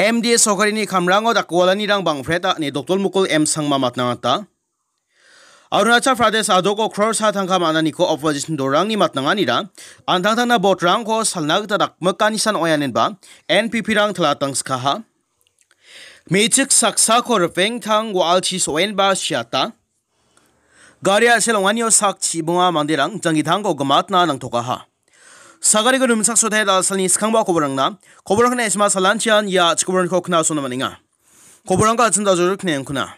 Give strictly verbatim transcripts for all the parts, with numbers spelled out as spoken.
M D A sorkarini kamrango dakgipalanirang bang·pret ine Doktor Mukul M Sangma matnangata. Arunachal Pradesh a·doko crore sa tangka man·aniko opposition dolrangni matnanganira an·tangtangna vote-rangko salna gita dakmikanisan oianinba N P P-rang talatangskaha. Me·chik saksako ripengtang wa·alchi so·enba siata. Gari a·sel ong·anio sak chibonga manderang janggitangko gimatna nangtokaha. Sagariko rimchaksotaia da·salni skangba koborangna, koborangna S M S salanchian ia chikoborangko knasona man·enga. Koborangko achim dajor knengkuna.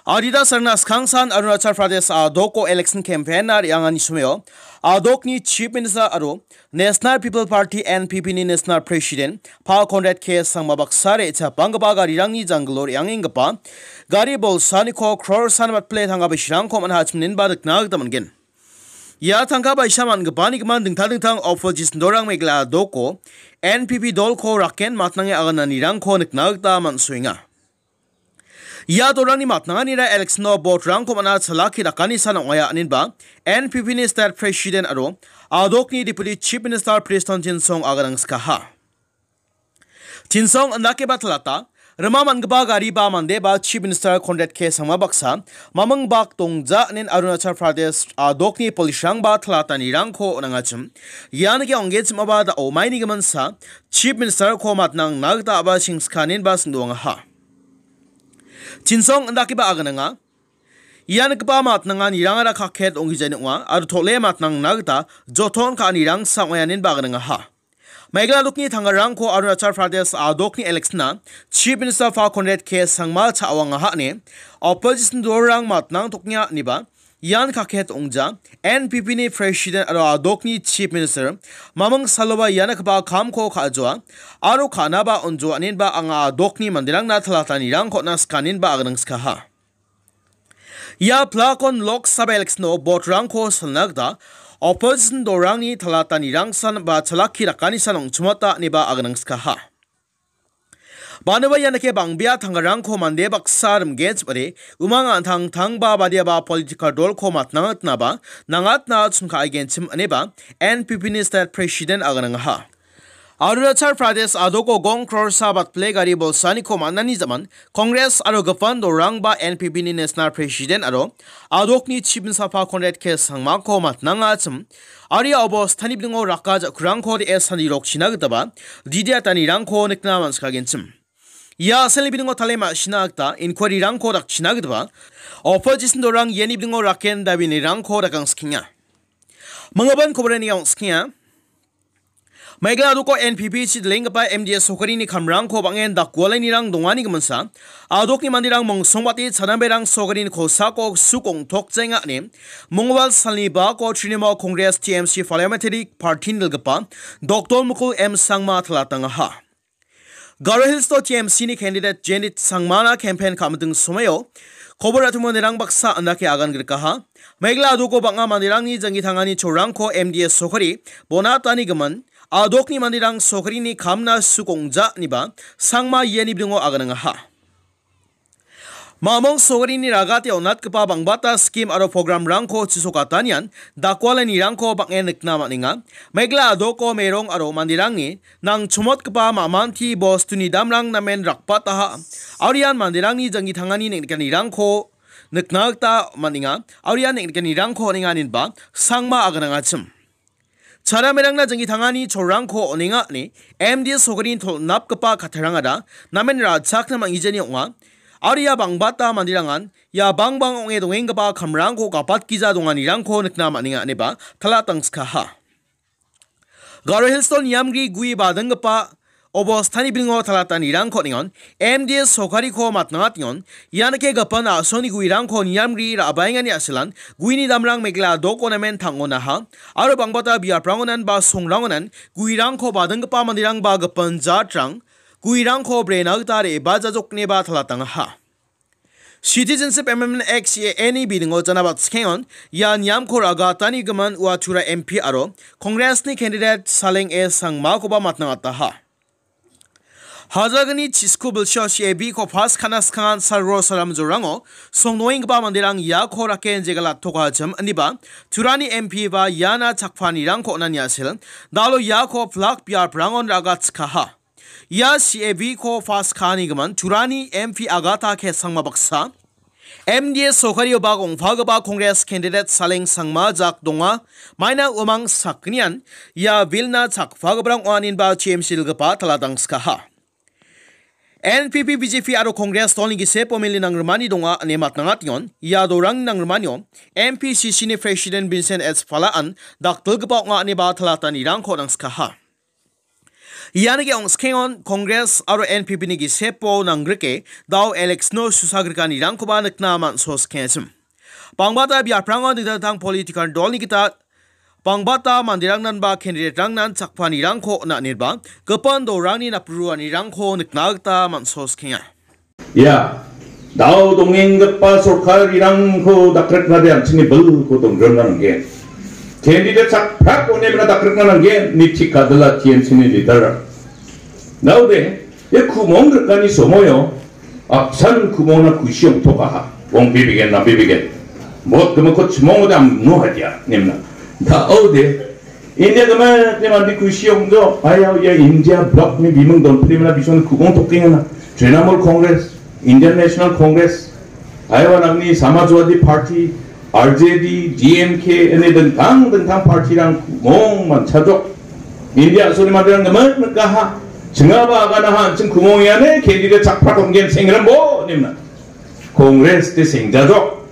Adita sarna skangsan Arunachal Pradesh a·doko election campaign-na re·angani someo a·dokni Chief Minister aro National People Party, N P P-ni National President Pa Conrad K Sangma baksa re·chapanggipa garirangni janggilo re·angenggipa gari bolsaniko crore san batpile tangka bisirangko man·a chimninba nikna gita man·gen. Ia tangka baisa man·gipani gimin dingtang dingtang opposition dolrang Meghalaya a·doko N P P dolko raken matnange agananirangko nikna gita man·soenga. Ia dolrangni matnanganira election-o vote-rangko man·a chalaki dakanisan ong·aia aninba N P P-ni state president aro a·dokni deputy chief minister Prestone Tynsong aganangskaha. Tynsong indakeba talata, rima man·gipa gari ba mande ba chief minister Conrad K Sangma baksa maming bak dongja anin Arunachal Pradesh a·dokni police-rangba talatanirangko on·angachim. Ian ge ong·genchimaba da·o maini giminsa chief minister-ko matnangna gita a·ba singskaninba singdoangaha. Tynsong indakeba agananga. Ia nikgipa matnanganirangara kaket ong·gijani ong·a aro tole matnangna gita joton ka·anirangsa ong·aia aninba aganangaha. Meghalaya a·dokni tangarangko Arunachal Pradesh a·dokni election-a Chief Minister Pa Conrad K Sangma cha·oangaha ine opposition dolrang matnangtokenga ineba ian kaket ong·ja. N P P-ni president aro a·dokni Chief Minister maming saloba ia nikgipa kamko ka·joa aro ka·naba on·joa aninba anga a·dokni manderangna talatanirangko on·a skaninba aganangskaha. Ia plakon Lok Sabha election-o vote-rangko salna gita opposition dolrangni talatanirangsan ba chalaki dakanisan ong·chimata ineba aganangskaha. Banoba ianike bang·bea tangarangko mande baksa rimgenchim·ode umang an·tangtangba badiaba political dolko matnangatnaba nangatna chingka·aigenchim ineba N P P-ni state president aganangaha. Arunachal Pradesh a·doko gong crore sa batpile gari bolsaniko man·ani jaman Congress aro gipin dolrangba N P P-ni national president aro a·dokni chief minister Pa Conrad K Sangmako matnangachim. Aro ia obostani bidingo raka ja·kurangko de·e sandirokchina gitaba didiatanirangko nikna man·sikagenchim. Ia a·selni bidingo tale ma·sina gita inquiry-rangko dakchina gitaba opposition dolrang iani bidingo raken dabinirangko dakangsikenga. Manggipan koborani angskenga. Meghalaya a·doko N P P chi dilenggipa M D A sorkarini kamrangko bang·en dakgualainirang dongani giminsa, a·dokni manderang mongsongbate chanamberang sorkarini kosako suk ong·tokjaenga ine, mongwal salni bako Trinamool Congress T M C Parliamentary Party-ni dilgipa Doctor Mukul M Sangma talatangaha. Garo Hills-o T M C-ni candidate Jenit Sangmana campaign ka·miting somoio kobor ra·timo manderang baksa andake agan grikaha. Meghalaya a·doko bang·a manderangni janggi tangani cholrangko M D A sorkari bonatani gimin, a·dokni manderang sorkarini kamna suk ong·ja ineba Sangma iani bidingo aganangaha. Mamong sorkarini ragate on·atgipa bang·bata skim aro programrangko chisokatanian dakgualanirangko bang·en nikna man·enga. Meghalaya a·doko merong aro manderangni nangchomotgipa ma·manti bostuni damrang namen rakbataha. Aro ian manderangni janggi tangani neng·nikanirangko nikna gita man·enga. Aro ian neng·nikanirangko on·enga ineba Sangma aganangachim. Charamerangna janggi tangani cholrangko on·enga ine M D A sorkarini tolnapgipa kattarangara namen ra·chakna man·gijani ong·a. Aro ia bang·bata manderangan ia bangbang ong·e dongenggipa kamrangko gapatgija donganirangko nikna man·enga ineba talatangskaha. Garo Hills-o niamgri gue badinggipa obostani bidingo talatanirangko on·engon, M D A sorkariko matnangatengon, ianike gipin a·songni guerangko niamgri ra·baengani a·selan, gueni damrang Meghalaya a·doko namen tang·onaha, aro bang·bata biaprangonan ba songrangonan guerangko badinggipa manderang ba gipin jatrang guerangko brena gita re·bajajokneba talatangaha. Citizenship Amendment Act, C A A-ni bidingo janabat skengon ia niamko ra·gatani gimin ua Tura M P aro Congress-ni candidate Saleng A Sangmakoba matnangataha. Hajalgni chisku bilsio C A B-ko pass ka·na skangan sargo saramjorango songdoenggipa manderang iako raken jegalatokachim ineba Turani M P ba iana chakpanirangko on·ani a·sel, dalo iako plak biaprangon ra·gatchikaha. Ia C A V-ko pas ka·anigimin Turani M P Agata K Sangma baksa, M D A sorkario bak ong·pagipa Congress candidate Saleng Sangma jak donga, maina uamang sakgnian ia bill-na chakpagiparang ong·a ineba T M C dilgipa tala dangskaha. N P P, B J P aro Congress dolni gisepo mele nangrimani donga ine matnangatengon. Ia dolrangni nangrimanio M P C C-ni President Vincent H Pala-an dakdilgipa ong·a ineba talatanirangko nangskaha. Ian ge ong·skengon Congress aro N P P-ni gisepo nangrike dao election-o susagrikanirangkoba nikna man·soskengachim. Bangbata biaprango dingtang dingtang political dolni gita bangbata manderangnan ba candidate-rangnan chakpanirangko on·anirba gipin dolrangni napruanirangko nikna gita man·soskenga. Ia, dao dongenggipa sorkarirangko dakriknade an·chingni bilko dongrona nanggen. Candidate sakprak onemna dakrikna nanggen, ni chikadila T M C-ni leader. Daode, ia kumong rikani somoio, apsan kumongna kusi ong·tokaha. Ong bibegen, na bibegen. Bot gimikko chimongode amno hadia, nemna. Daode, India gimikni mande kusi ong·jo. Ayau ia India bloc-ni biming donprimna bisong kumong tokengana. Trinamool Congress, Indian National Congress, ayau nangni Samajwadi Party, R J D, D M K, ine dingtang dingtang party-rang kumong manchajok. India a·soni manderang gimik nikaha. Chingaba aganaha an·ching kumong iane candidate sakprak ong·gen sengrimbo nemna. Congress de sengjajok.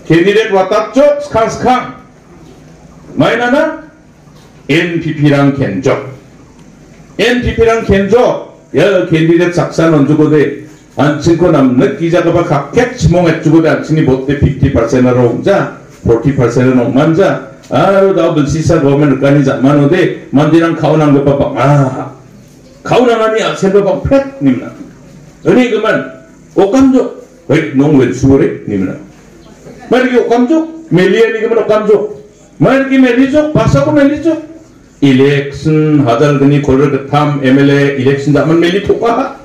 Candidate watatjok skang skang. Mainana N P P-rang kenjok. N P P-rang kenjok. Ia candidate saksa nonjokode. An·chingko namnik gijagipa kakkek chimong etjokode an·chingni vote-de fifty percent aro ong·ja, forty percent aro ong·manja. Aro dao bilsisa government rikani ja·manode manderang ka·onanggipa bang·a. Ka·onangani a·selba bang·pret nimna. Ini gimin okamjok. Hei, nong wensure nimna. Mari okamjok. Meliani gimin okamjok. Mari melijok. Pasako melijok. Election hajar gni kolgrik gittam M L A election ja·man meli tokaha.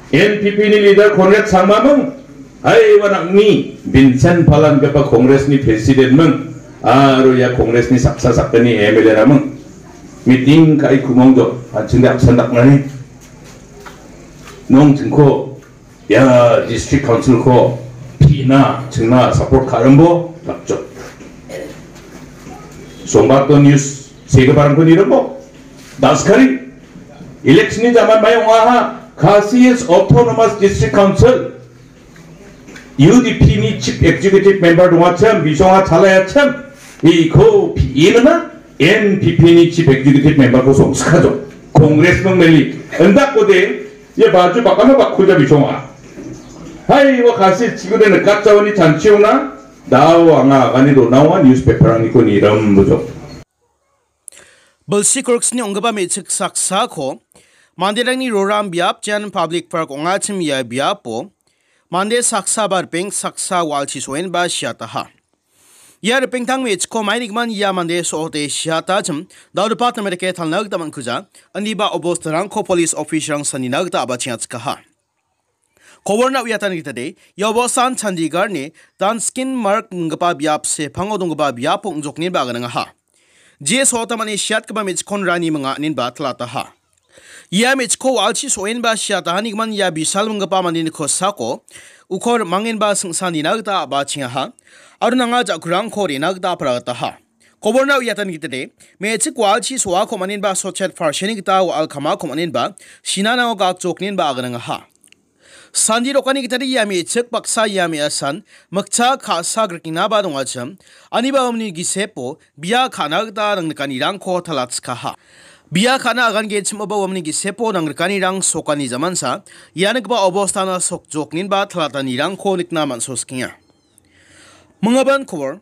N P P-ni leader Conrad Sangmaming, haiba nangni Vincent Pala ingipa Congress-ni president-ming, aro ia Congress-ni saksa sakgni M L A-raming meeting ka·e kumongjo, an·chingde apsan dakmani. Nong chingko ia district council-ko pina chingna support ka·rimbo dakjok. Sombato news segiparangko nirimbo. Daskari election-ni jaman mai ong·aha. Khasi Hills Autonomous District Council, U D P-ni chief executive member dongachim, bisonga chalayachim, iko pi·e nina N P P-ni chief executive member-ko songskajok. Congress-ming meli. Indakode, ia baju bakana bakkuja bisonga. Hai, ua Khasi chikode nikatjawani chanchiona, dao anga agani donaoa newspaper-aniko nirambojok. Bilsi korksni ong·gipa me·chik saksako manderangni roram biap Jan Public Park ong·achim ia biapo mande saksa ba ripeng saksa wa·alchi so·enba siataha. Ia ripengtang me·chikko mainigimin ia mande so·ote siatachim dao department-rike talna gita man·kuja, indiba obostarangko police officer-rang sanina gita a·bachengachikaha. Koborna uiatani gitade, ia obosan Chandigarh-ni Danskin Marg inggipa biap sepango donggipa biapo ong·jokniba aganangaha. Jia so·ota mani siatgipa me·chikkon rani minga ninba talataha. Ia me·chikko wa·alchi so·enba siatahanigimin ia bisal minggipa mandeni kosako uko rim·angenba singsa nina gita a·bachengaha. Aro nanga ja·kurangko re·na gita aparagataha. Koborna uiatani gitade, me·chik wa·alchi so·ako maninba sotchet parseni gita wa·al kamako maninba sinanao gakjokninba aganangaha. Sandi dokani gitade ia me·chik baksa ia me·asan mikcha ka·sa grikinaba dongachim, aniba uamni gisepo bia ka·na gita nangnikanirangko talatskaha. Bia ka·na agangenchimoba uamni gisepo nangrikanirang sokani jamansa, ia nikgipa obostana sokjokninba talatanirangko nikna man·soskenga. Mingaban kobor.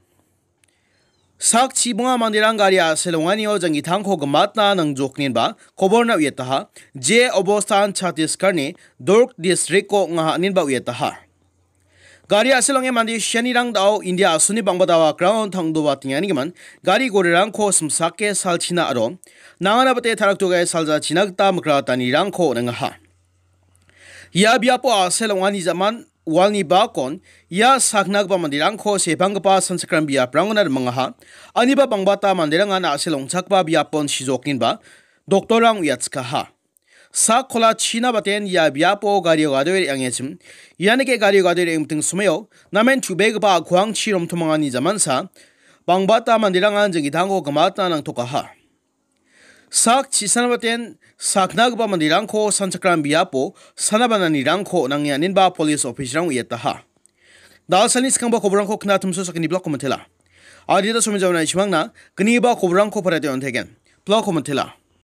Sak chibonga manderang gari a·sel ong·anio janggitangko gimatna nangjokninba koborna uiataha, je obostan Chhattisgarh-ni Durg district-o ong·aha ninba uiataha. Gari a·sel ong·e mande sianirang dao India a·soni bangba dawa ground tangdoba teng·anigimin gari gorirangko simsake salchina aro nangana bite taraktoke saljachina gita mikratanirangko on·engaha. Ia biapo a·sel ong·ani jaman walni bakon ia sakna gipa manderangko sepanggipa sanchakram biaprangona rimangaha. Aniba bangbata manderangan a·sel ong·chakgipa biapon sijokninba doktorrang uiatskaha. Sak kola china baten ia biapo gario gadoe re·angechim, ianike gario gadoe re·angmiting somao namen chubegipa a·kuangchi romtomangani jamansa, bangbata manderangan jing·gitangko gimatna nangtokaha. Sak chisana baten saknagipa manderangko sanchakram biapo sana bananirangko nange aninba polis officerrang uiataha. Dalsani skangba koborangko knatimso sakgni blokko mantela. Adita somi jaona ichimangna gniba koborangko parate ontegen. Blokko mantela.